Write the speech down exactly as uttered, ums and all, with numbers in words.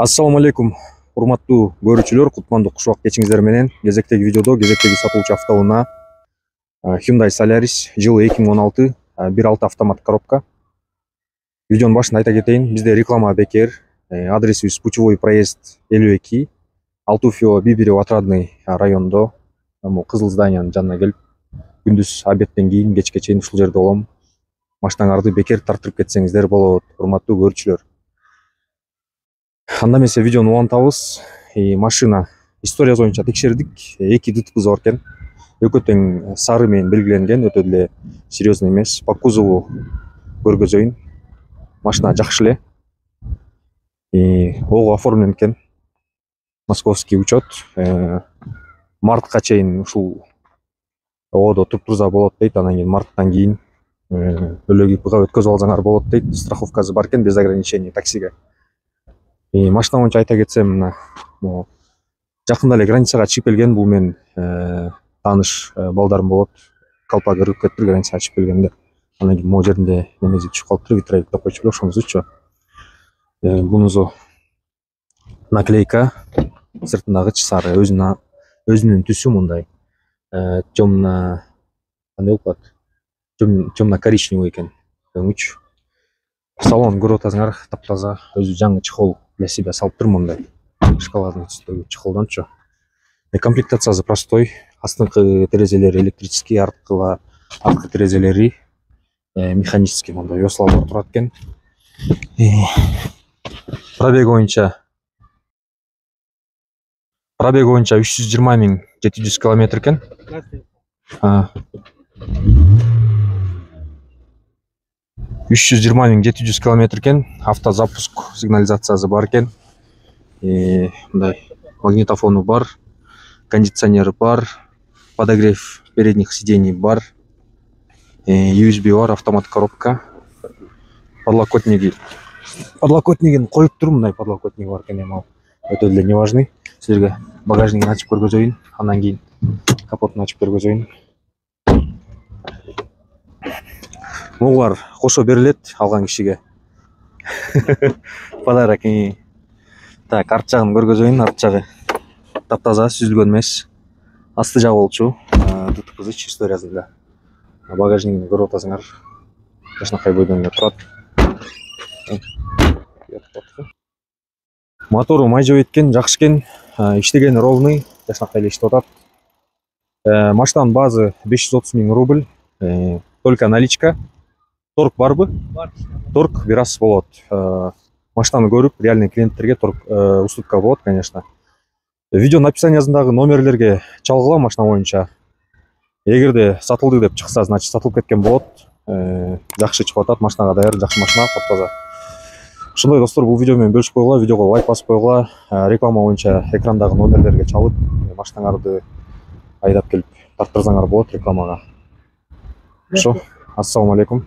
Ассаламу алейкум, урматтуу көрүүчүлөр, кутмандуу куш убак кечиңиздер менен. Кезектеги видеодо кезектеги сатылуучу автоунаа Hyundai Solaris жылы эки миң он алты бир алты автомат коробка. Видеонун башында айта кетейин, бизде реклама бекер. Адресибиз Путевой проезд элүү эки, Алтуфьево Бибирево Отрадный районунда, кызыл зданиянын жанына келип, күндүз обедтен кийин кечке чейин ушул жерде болом. Машинаңарды бекер тартырып кетсеңиздер болот, урматтуу көрүүчүлөр. Анда эмесе видеону улантабыз. Машина историясы боюнча текшердик. эки ДТП бар экен. Экөө тең сары менен белгиленген, өтө деле серьезный эмес. По кузову көргөзөйүн. Машина жакшы эле. Ого оформлен экен. Московский учет. Мартка чейин ушул оодо туруп турса болот дейт. Анан кийин марттан кийин өлөгү ИПга өткөзүп алсаңар болот дейт. Страховкасы бар экен, без ограничений таксиге. Машина боюнча айта кетсем, мына жакында эле границага чыгып келген. Бул мен тааныш балдарым болот. Калпак ыргып кетиптир границага чыгып келгенде. Анан кийин могу жеринде немеси түшүп калыптыр, витроик деп койчу беле, ошоңузучу. Бунусу наклейка, сыртындагы сары, өзүнүн өзүнүн түсү мындай. Темно, кандай болуп калат? Темно-коричневый экен. Өңүч. Салон көрүп атасыңар, таптаза, өзү жаңы чехол для себя салыптыр мындай. Шоколадный түстөгү чехолдончу. Комплектациясы простой. Астыңкы терезелери электрический, арткы арткы терезелери механический мындай веслалар турат экен. Пробег боюнча Пробег боюнча үч жүз жыйырма миң жети жүз километр экен. үч жүз жыйырма миң жети жүз километр экен. Автозапуск сигнализациясы бар экен. Мындай магнитофону бар, кондиционер бар, подогрев передних сидений бар, ю эс би бар, автомат коробка. Подлокотниги. Подлокотнигин коюп тур, мындай подлокотник бар экен, эми ал өтө деле не важный. Силерге багажнигин ачып көргөзөйүн, андан кийин капотун ачып көргөзөйүн. Могулар кошо берилет алган кишиге. Подарок. Так, арт жагын көргөзөйүн. Арт жагы таптаза, сүзүлгөн эмес. Асты жагы болчу. ДТП историясында. Багажнигин көрүп атасыңар. Жашнакай бойдон эле турат. Мотору май жеп эткен, жакшы экен. Иштеген ровный, жашнакай эле иштеп атат. Машинанын базы беш жүз отуз миң рубль. Только наличка. Торг барбы? Бар. Торг бир аз болот. Машинаны көрүп, реальный клиенттерге торг уступка болот, конечно. Видеонун описаниясындагы номерлерге чалгыла машина боюнча. Эгерде сатылды деп чыкса, значит сатылып кеткен болот. Жакшы чыгып атат, машинага даяр, жакшы машина, таптаза. Ошондой достор, бул видео менен бөлүшүп койгула, видеого лайк басып койгула. Реклама боюнча экрандагы номерлерге чалып, машинаңарды айдап келип тарттырсаңар болот рекламага. Ошо, ассаламу алейкум.